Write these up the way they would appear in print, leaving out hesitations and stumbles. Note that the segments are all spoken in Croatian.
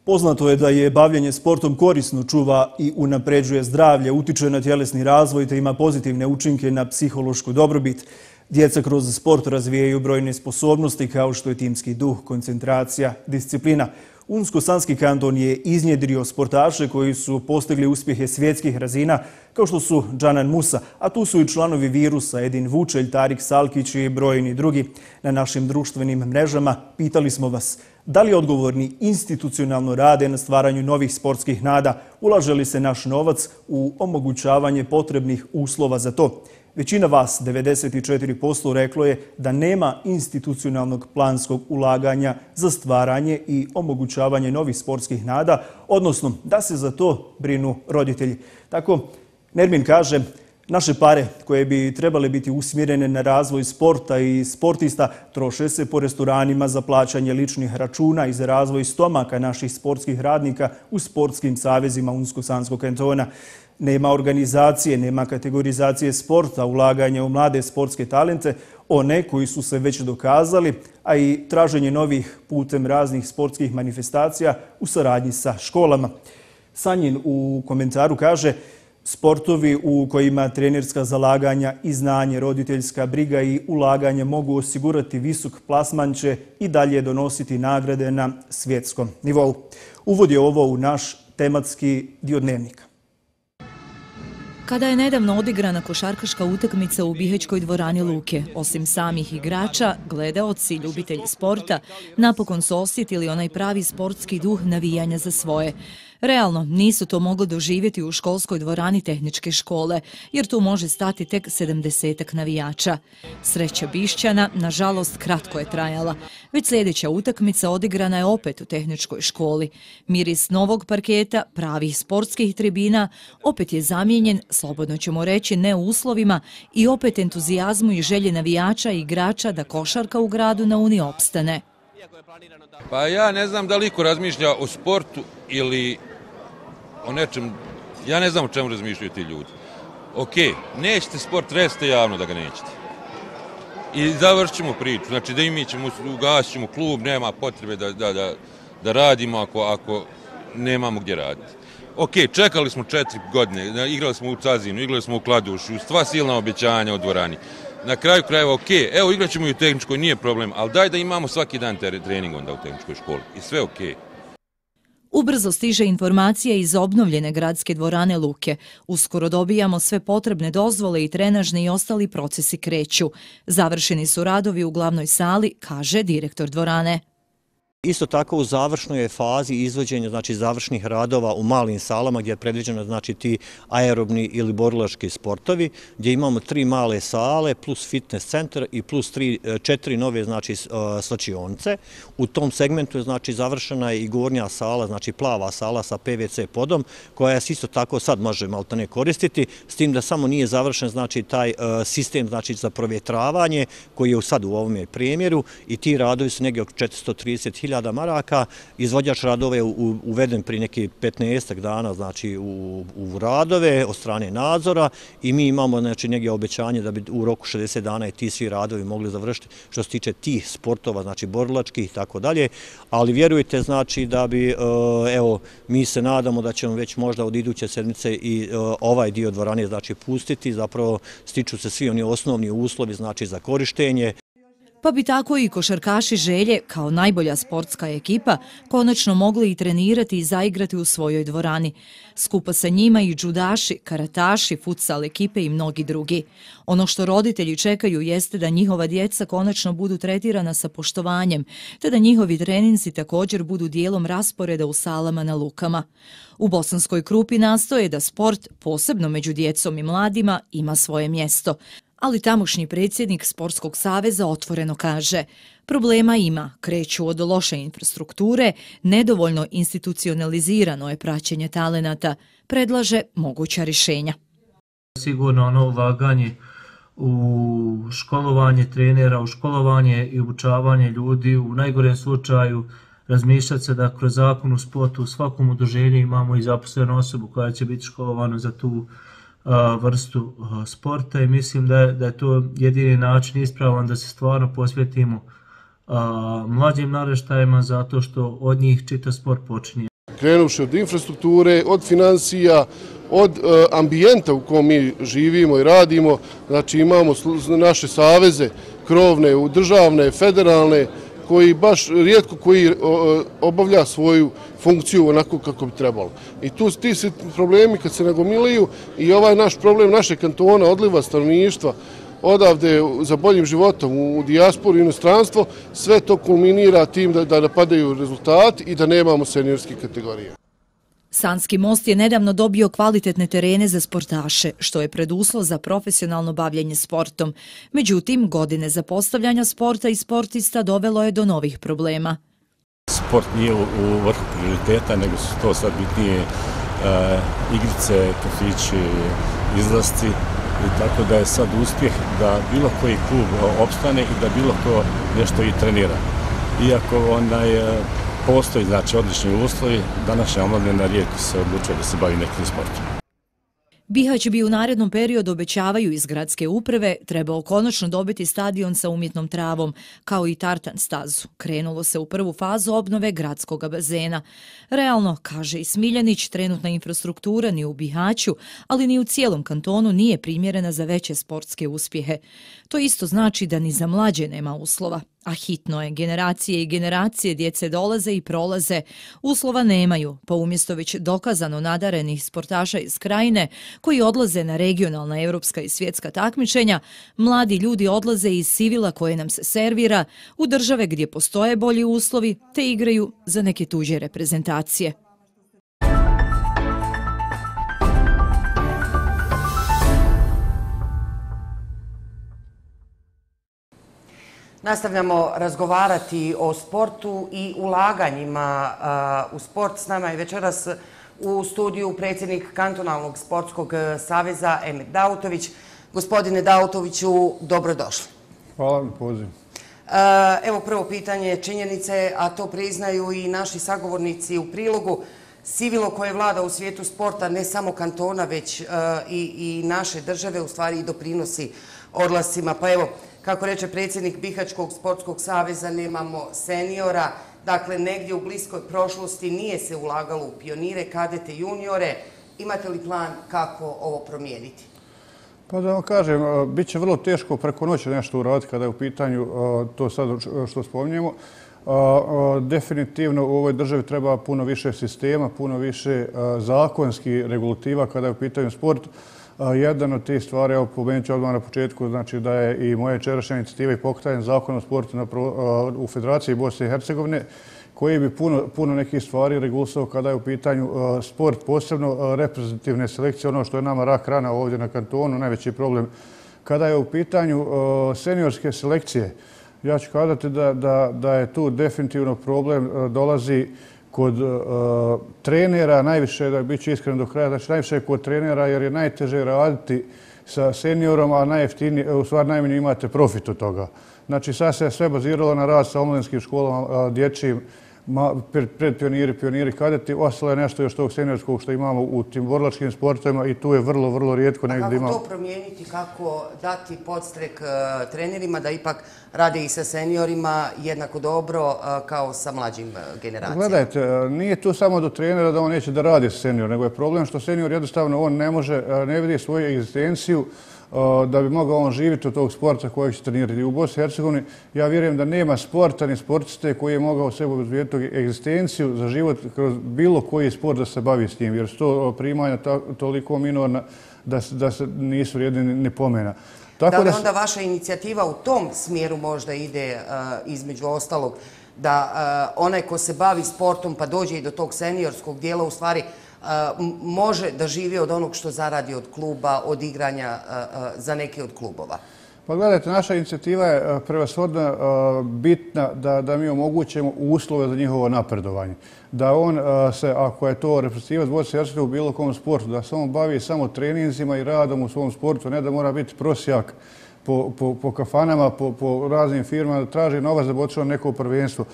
Poznato je da je bavljenje sportom korisno, čuva i unapređuje zdravlje, utiče na tjelesni razvoj te ima pozitivne učinke na psihološku dobrobit. Djeca kroz sport razvijaju brojne sposobnosti kao što je timski duh, koncentracija, disciplina. Unsko-Sanski kanton je iznjedrio sportaše koji su postigli uspjehe svjetskih razina kao što su Džanan Musa, a tu su i članovi Virusa Edin Vučelj, Tarik Salkić i brojni drugi. Na našim društvenim mrežama pitali smo vas da li odgovorni institucionalno rade na stvaranju novih sportskih nada, ulaže li se naš novac u omogućavanje potrebnih uslova za to. Većina vas, 94%, reklo je da nema institucionalnog planskog ulaganja za stvaranje i omogućavanje novih sportskih nada, odnosno da se za to brinu roditelji. Tako, Nermin kaže, naše pare koje bi trebale biti usmjerene na razvoj sporta i sportista troše se po restoranima za plaćanje ličnih računa i za razvoj stomaka naših sportskih radnika u sportskim savezima Unsko-Sanskog kantona. Nema organizacije, nema kategorizacije sporta, ulaganja u mlade sportske talente, one koji su se već dokazali, a i traženje novih putem raznih sportskih manifestacija u saradnji sa školama. Sanjin u komentaru kaže: sportovi u kojima trenerska zalaganja i znanje, roditeljska briga i ulaganje mogu osigurati visok plasman će i dalje donositi nagrade na svjetskom nivou. Uvodi ovo u naš tematski dio dnevnika. Kada je nedavno odigrana košarkaška utakmica u Bihećkoj dvorani Luke, osim samih igrača, gledaoci, ljubitelji sporta napokon su osjetili onaj pravi sportski duh navijanja za svoje. Realno, nisu to mogli doživjeti u školskoj dvorani tehničke škole, jer tu može stati tek 70-ak navijača. Sreća Bišćana, nažalost, kratko je trajala. Već sljedeća utakmica odigrana je opet u tehničkoj školi. Miris novog parketa, pravih sportskih tribina, opet je zamijenjen, slobodno ćemo reći, ne u uslovima i opet entuzijazmu i želje navijača i igrača da košarka u gradu na Uni opstane. Pa ja ne znam da li iko razmišlja o sportu ili o nečem, ja ne znam o čemu razmišljaju ti ljudi. Ok, nećete sport, recite javno da ga nećete. I završit ćemo priču, znači da i mi ćemo, ugasit ćemo klub, nema potrebe da radimo ako nemamo gdje raditi. Ok, čekali smo 4 godine, igrali smo u Cazinu, igrali smo u Kladušu, sva silna obećanja u dvorani. Na kraju krajeva, ok, evo igrat ćemo i u tehničkoj, nije problem, ali daj da imamo svaki dan trening onda u tehničkoj školi i sve ok. Ubrzo stiže informacija iz obnovljene gradske dvorane Luke. Uskoro dobijamo sve potrebne dozvole i trenažni i ostali procesi kreću. Završeni su radovi u glavnoj sali, kaže direktor dvorane. Isto tako u završnoj je fazi izvođenja završnih radova u malim salama gdje je predviđeno ti aerobni ili borilački sportovi, gdje imamo 3 male sale plus fitness centar i plus 4 nove slačionice. U tom segmentu je završena i gornja sala, plava sala sa PVC podom, koja se isto tako sad može maltene koristiti, s tim da samo nije završen taj sistem za provjetravanje koji je sad u ovome primjeru i ti radovi su negdje oko 430.000 maraka. Izvođač radova je uveden prije neki 15 dana u radove od strane nadzora i mi imamo negdje obećanje da bi u roku 60 dana i ti svi radovi mogli završiti što se tiče tih sportova, borilačkih i tako dalje, ali vjerujte da bi, evo, mi se nadamo da ćemo već možda od iduće sedmice i ovaj dio dvorane pustiti, zapravo stiču se svi oni osnovni uslovi za korištenje. Pa bi tako i košarkaši Želje, kao najbolja sportska ekipa, konačno mogli i trenirati i zaigrati u svojoj dvorani. Skupa sa njima i džudaši, karataši, futsal ekipe i mnogi drugi. Ono što roditelji čekaju jeste da njihova djeca konačno budu tretirana sa poštovanjem, te da njihovi treninzi također budu dijelom rasporeda u salama na Lukama. U Bosanskoj Krupi nastoje da sport, posebno među djecom i mladima, ima svoje mjesto. Ali tamošnji predsjednik Sportskog saveza otvoreno kaže: problema ima, kreću od loše infrastrukture, nedovoljno institucionalizirano je praćenje talenata, predlaže moguća rješenja. Sigurno ono ulaganje u školovanje trenera, u školovanje i obučavanje ljudi, u najgorem slučaju razmišljati se da kroz zakon u sportu u svakom udruženju imamo i zaposlenu osobu koja će biti školovana za tu vrstu sporta i mislim da je to jedini način ispravan da se stvarno posvetimo mlađim naraštajima zato što od njih čitav sport počinje. krenuvši od infrastrukture, od financija, od ambijenta u kojem mi živimo i radimo. Znači imamo naše saveze, krovne, državne, federalne, koji baš rijetko koji obavlja svoju funkciju onako kako bi trebalo. I ti se problemi kad se nagomilaju i ovaj naš problem našeg kantona, odliva stanovništva, odavde za boljim životom u dijasporu i inostranstvo, sve to kulminira tim da napadaju rezultati i da nemamo seniorske kategorije. Sanski most je nedavno dobio kvalitetne terene za sportaše, što je preduslov za profesionalno bavljenje sportom. Međutim, godine zapostavljanja sporta i sportista dovelo je do novih problema. Sport nije u vrhu prioriteta, nego su to sad bitnije igrice, kafići, izlasci. I tako da je sad uspjeh da bilo koji klub opstane i da bilo ko nešto i trenira. Iako postoji odlični uslovi, današnja omladina rijetko se odlučuje da se bavi nekim sportom. Bihać bi u narednom periodu, obećavaju iz gradske uprave, trebao konačno dobiti stadion sa umjetnom travom, kao i tartan stazu. Krenulo se u prvu fazu obnove gradskog bazena. Realno, kaže i Smiljanić, trenutna infrastruktura ni u Bihaću, ali ni u cijelom kantonu nije primjerena za veće sportske uspjehe. To isto znači da ni za mlađe nema uslova. A hitno je, generacije i generacije djece dolaze i prolaze, uslova nemaju, pa umjesto već dokazano nadarenih sportaša iz krajine koji odlaze na regionalna, europska i svjetska takmičenja, mladi ljudi odlaze iz sivila koje nam se servira u države gdje postoje bolji uslovi te igraju za neke tuđe reprezentacije. Nastavljamo razgovarati o sportu i ulaganjima u sport. S nama je večeras u studiju predsjednik Kantonalnog sportskog saveza Emir Dautović. Gospodine Dautoviću, dobrodošli. Hvala na pozivu. Evo prvo pitanje, činjenice, a to priznaju i naši sagovornici u prilogu. Sivilo koje vlada u svijetu sporta, ne samo kantona, već i naše države, u stvari i doprinosi odlascima. Pa evo, kako reče predsjednik Bihaćkog sportskog saveza, nemamo seniora. Dakle, negdje u bliskoj prošlosti nije se ulagalo u pionire, kadete, juniore. Imate li plan kako ovo promijeniti? Pa da vam kažem, bit će vrlo teško preko noći nešto uraditi kada je u pitanju to sad što spominjemo. Definitivno u ovoj državi treba puno više sistema, puno više zakonskih regulativa kada je u pitanju sport. Jedan od tih stvari, evo pomenut ću odmah na početku, znači da je i moja večerašnja inicijativa i pokretan Zakon o sportu u Federaciji Bosne i Hercegovine, koji bi puno nekih stvari regulisao kada je u pitanju sport, posebno reprezentativne selekcije, ono što je nama rak rana ovdje na kantonu, najveći problem. Kada je u pitanju seniorske selekcije, ja ću kazati da je tu definitivno problem dolazi kod trenera, najviše, da bit ću iskren do kraja, znači najviše kod trenera jer je najteže raditi sa seniorom, a najjeftinije, u stvari najmanje imate profit od toga. Znači sad se sve baziralo na rad sa omladinskim školama, dječjim, pioniri, kadeti, ostalo je nešto još tog seniorskog što imamo u tim borilačkim sportovima i tu je vrlo, vrlo rijetko negdje imamo. A kako to promijeniti, kako dati podstrek trenerima da ipak rade i sa seniorima jednako dobro kao sa mlađim generacijama? Gledajte, nije tu samo do trenera da on neće da radi sa senior, nego je problem što senior jednostavno on ne vidi svoju egzistenciju da bi mogao on živjeti od tog sporta kojeg će trenirati. U Bosni i Hercegovini ja vjerujem da nema sporta ni sportiste koji je mogao sebe obezbijediti egzistenciju za život kroz bilo koji sport da se bavi s njim, jer su to primanja toliko minorna da se nisu vrijedni ni pomena. Da li onda vaša inicijativa u tom smjeru možda ide između ostalog da onaj ko se bavi sportom pa dođe i do tog seniorskog dijela u stvari može da živi od onog što zaradi od kluba, od igranja za neki od klubova? Pa gledajte, naša inicijativa je prevashodno bitna da mi omogućemo uslove za njihovo napredovanje. Da on se, ako je to reprezentativac Bosne i Hercegovine u bilo kom sportu, da se on bavi samo treninzima i radom u svom sportu, ne da mora biti prosjak po kafanama, po raznim firmama, da traži novac da bi otišao na neko prvenstvo.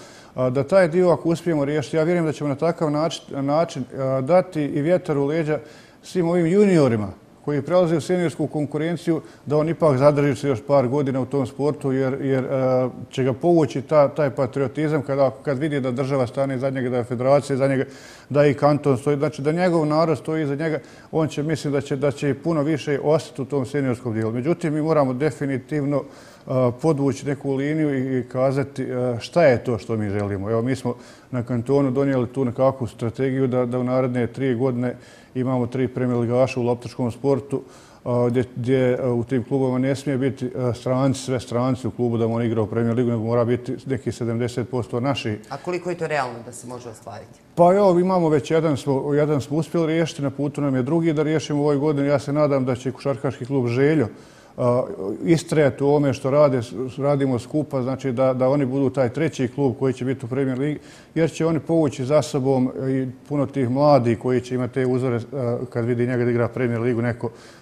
Da taj dio, ako uspijemo riješiti, ja vjerujem da ćemo na takav način dati i vjetar u leđa svim ovim juniorima koji prelazi u seniorsku konkurenciju, da on ipak zadrži se još par godina u tom sportu, jer će ga povući taj patriotizam kad vidi da država stane iza njega, da je federacija iza njega, da i kanton stoji, znači da njegov narod stoji iza njega, on će, mislim da će puno više ostati u tom seniorskom dijelu. Međutim, mi moramo definitivno podvući neku liniju i kazati šta je to što mi želimo. Evo, mi smo na kantonu donijeli tu nekakvu strategiju da u naredne 3 godine imamo 3 premijer ligaša u loptačkom sportu, gdje u tim klubovima ne smije biti stranci, sve stranci u klubu da on igra u premijer ligu, nego mora biti neki 70% naši. A koliko je to realno da se može ostvariti? Pa evo, imamo već jedan smo uspjeli riješiti, na putu nam je drugi da riješimo u ovoj godini. Ja se nadam da će košarkaški klub Željo istrajati u ovome što radimo skupa, znači da oni budu taj 3. klub koji će biti u premijer ligi, jer će oni povući za sobom i puno tih mladih koji će imati te uzore kad vidi njega da igra premijer ligu,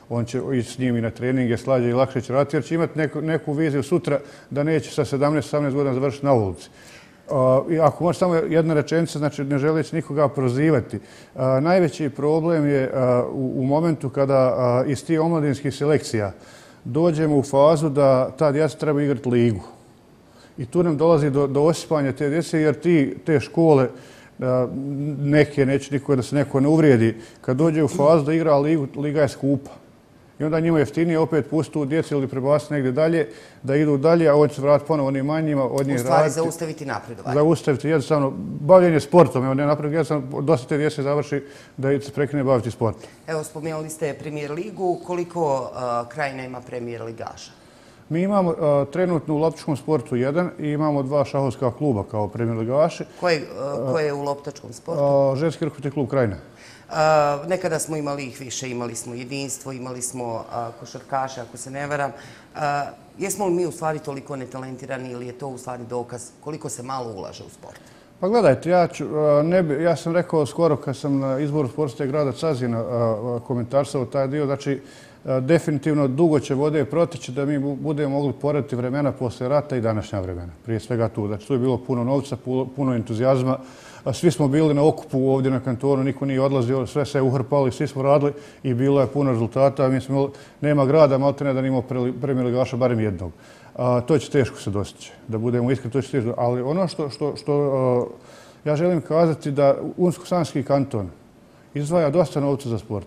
on će ići s njim i na treninge, slađe i lakše će raditi, jer će imati neku viziju sutra da neće sa 17-18 godina završiti na ulici. I ako može samo jedna rečenica, znači ne želeći nikoga prozivati, najveći problem je u momentu kada iz tih omladinskih selekcija dođemo u fazu da ta djeca treba igrati ligu. I tu nam dolazi do osipanja te djece, jer te škole, neke, neće niko da se neko ne uvrijedi, kad dođe u fazu da igra ligu, liga je skupa. I onda njima jeftinije opet pustiti tu djecu ili prebaciti negdje dalje, da idu dalje, a on će se vratiti ponovo onim manjima, od njih raditi. U stvari zaustaviti napredovanje. Zaustaviti jednostavno bavljenje sportom. Evo, ne napredovanje, jednostavno dosta te djece završi da se prekine baviti sportom. Evo, spomenuli ste premijer ligu. Koliko Krajina ima premijer ligaša? Mi imamo trenutno u loptačkom sportu 1 i imamo 2 šahovska kluba kao premijer ligaši. Ko je u loptačkom sportu? Ženski rukometni klub Krajina. Nekada smo imali ih više, imali smo jedinstvo, imali smo košarkaše, ako se ne varam. Jesmo li mi u stvari toliko netalentirani ili je to u stvari dokaz koliko se malo ulaže u sport? Pa gledajte, ja sam rekao skoro kad sam na izboru sportske grada Cazina komentarsao taj dio, znači definitivno dugo će vode proteći da mi budemo mogli porediti vremena posle rata i današnja vremena. Prije svega tu. Znači tu je bilo puno novca, puno entuzijazma. Svi smo bili na okupu ovdje na kantonu, niko nije odlazio, sve se uhrpali, svi smo radili i bilo je puno rezultata. Nema grada, maltene da nimao premijer ligaša, barem jednog. To će teško se dostići, da budemo iskreni, to će teško. Ali ono što ja želim kazati da Unsko-Sanski kanton izdvaja dosta novca za sport.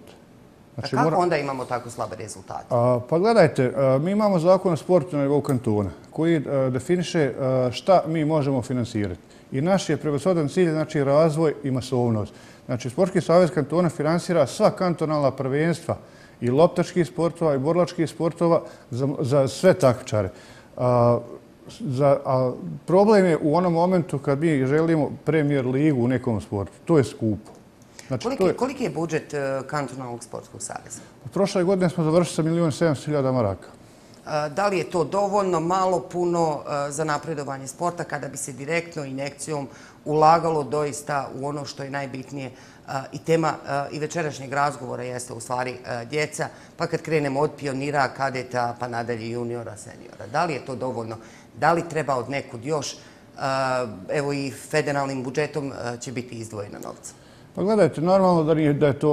Znači, kako onda imamo tako slabe rezultate? Pa gledajte, mi imamo zakon o sportu na nivou kantona koji definiše šta mi možemo finansirati. I naš je prevashodan cilj, znači razvoj i masovnost. Znači, Sportski savez kantona finansira sva kantonalna prvenstva i loptačkih sportova i borilačkih sportova za sve takmičare. Problem je u onom momentu kad mi želimo premijer ligu u nekom sportu. To je skupo. Koliki je budžet kantonalnog sportskog saveza? Prošle godine smo završili sa 1.700.000 maraka. Da li je to dovoljno, malo, puno za napredovanje sporta kada bi se direktno injekcijom ulagalo doista u ono što je najbitnije i tema i večerašnjeg razgovora jeste u stvari djeca, pa kad krenemo od pionira, kadeta, pa nadalje juniora, seniora. Da li je to dovoljno? Da li treba od nekud još? Evo i federalnim budžetom će biti izdvojena novca. Pa gledajte, normalno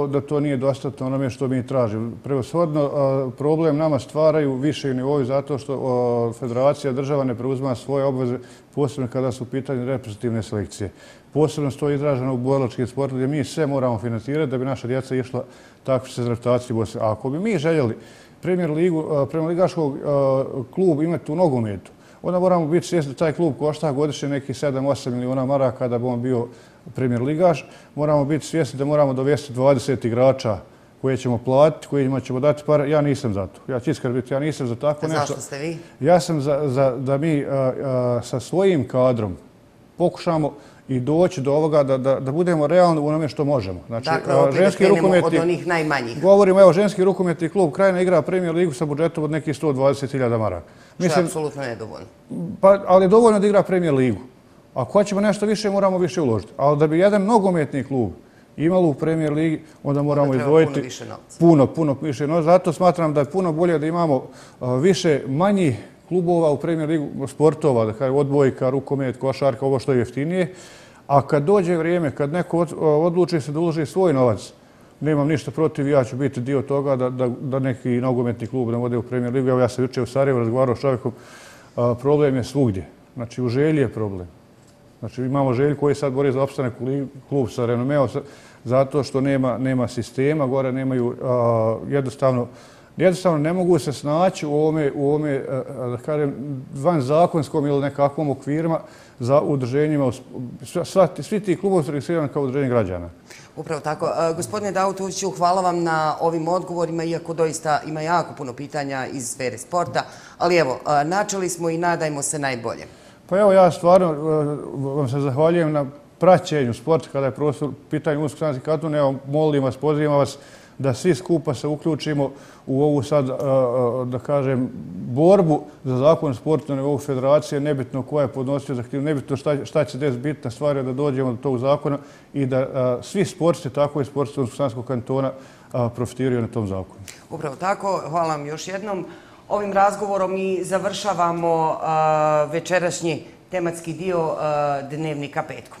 da to nije dostatno onome što mi tražimo. Prevashodno problem nama stvaraju više nivoi zato što federacija država ne preuzima svoje obveze, posebno kada su u pitanju reprezentativne selekcije. Posebno to je izraženo u borilačkim sportu gdje mi sve moramo financirati da bi naša djeca išla takmičiti za reprezentaciju. A ako bi mi željeli premijer ligaškog klub imati u nogometu, onda moramo biti svjesni da taj klub košta godišnje nekih 7-8 miliona maraka da bi on bio premijer ligaš. Moramo biti svjesni da moramo dovesti 20 igrača koje ćemo platiti, kojima ćemo dati pare. Ja nisam za to. Ja ću iskreno biti, ja nisam za tako nešto. Zašto ste vi? Ja sam da mi sa svojim kadrom pokušamo i doći do ovoga da budemo realni u onome što možemo. Dakle, opet da krenemo od onih najmanjih. Govorimo, evo, ženski rukometni klub Krajina igra premijer ligu sa budžetom od nekih 120.000 maraka. Što je apsolutno nedovoljno. Ali je dovoljno da igra premijer ligu. Ako hoćemo nešto više, moramo više uložiti. Ali da bi jedan nogometni klub imalo u premijer ligi, onda moramo izdvojiti puno više novca. Zato smatram da je puno bolje da imamo više manjih klubova u premijer ligu sportova, da kažem odbojka, rukomet, košarka, ovo što je jeftinije. A kad dođe vrijeme, kad neko odluči se da uloži svoj novac, nemam ništa protiv, ja ću biti dio toga da neki nogometni klub nam ode u Premier ligu. Evo, ja sam jučer u Sarajevu razgovarao s čovjekom, problem je svugdje. Znači, u Želji je problem. Znači, imamo Želju koji sad bori za opstanak klub sa renomeom, zato što nema sistema, gore nemaju jednostavno ne mogu se snaći u ovome, da kažem, vanzakonskom ili nekakvom okvirima za udruženjima. Svi ti klubovi su registrirani kao udruženje građana. Upravo tako. Gospodine Davutoviću, hvala vam na ovim odgovorima, iako doista ima jako puno pitanja iz sfere sporta, ali evo, načeli smo i nadajmo se najbolje. Pa evo, ja stvarno vam se zahvaljujem na praćenju sporta kada je prostor pitanje Unsko-Sanski kanton. Evo, molim vas, pozivam vas da svi skupa se uključimo u ovu sad, da kažem, borbu za zakon sporta na nivou federacije, nebitno koja je podnosio zahtjev, nebitno šta će desiti, bitna stvar je da dođemo do tog zakona i da svi sportski, tako i sportski Unsko-Sanskog kantona, profitiraju na tom zakonu. Upravo tako, hvala vam još jednom. Ovim razgovorom i završavamo večerašnji tematski dio Dnevnika petkom.